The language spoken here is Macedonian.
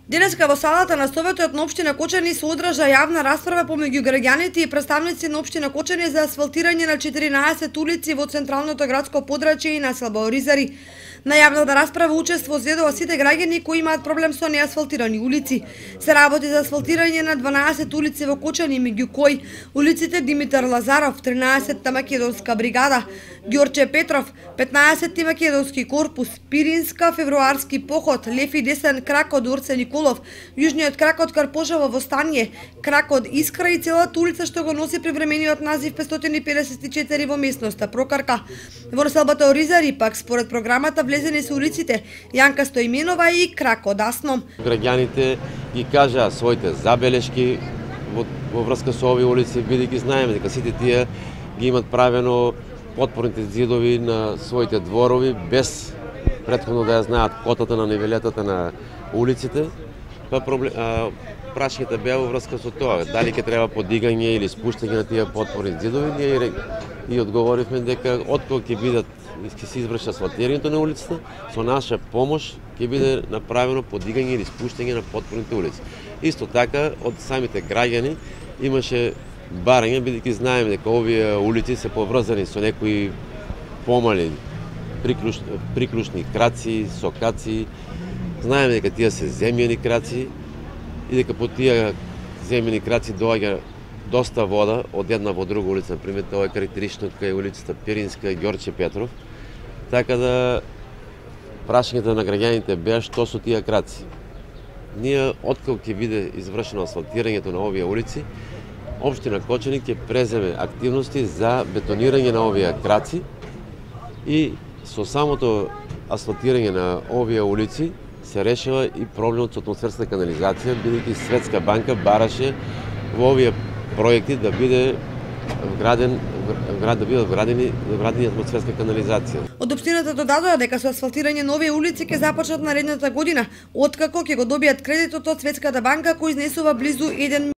Денеска во салата на Советот на општина Кочани се одржа јавна расправа помеѓу граѓаните и представници на општина Кочани за асфалтирање на 14 улици во централното градско подрачје и населба Оризари. На јавната расправа учество зедува сите граѓани кои имаат проблем со неасфалтирани улици. Се работи за асфалтирање на 12 улици во Кочани, меѓу кои улиците Димитар Лазаров, 13-та македонска бригада, Ѓорче Петров, 15-ти македонски корпус, Пиринска, Февруарски поход, Лев и десен крак од Орце Николов, јужниот крак од Карпошево Востание, крак од Искра и целата улица што го носи привремениот назив 554 во местноста Прокарка. Во населбата Оризари пак според програмата влезени се улиците Јанка Стоименова и крак од Асном. Граѓаните ги кажаа своите забелешки во врска со овие улици, бидејќи знаеме дека сите тие ги имат правено потпорните зидови на своите дворови без претходно да ја знаат котата на нивелетата на улиците. Прашањето беа во врска со тоа, дали ќе треба подигање или спуштање на тие потпорни зидови. Ние и одговоривме дека откога ќе се изврши асфалтирањето на улицата, со наша помош ќе биде направено подигање или спуштање на потпорните улици. Исто така од самите граѓани имаше барање, бидејќи знаеме дека овие улици се поврзани со некои помали приклучни краци, сокаци. Знаеме дека тие се земјени краци и дека по тие земјени краци доаѓа доста вода од една во друга улица. Например, тоа е карактеристично кај улицата Пиринска и Ѓорче Петров. Така да прашањето на граѓаните беа што со тие краци. Ние откако ќе биде извршено асфалтирањето на овие улици, општина Кочани ќе преземе активности за бетонирање на овие краци и со самото асфалтирање на овие улици се решава и проблемот со атмосферска канализација, бидејќи Светска банка бараше во овие проекти да биде вградени атмосферска канализација. Од општината додадоа дека со асфалтирање на овие улици ќе започнат наредната година, откако ќе го добијат кредитот од Светската банка кој изнесува близу 1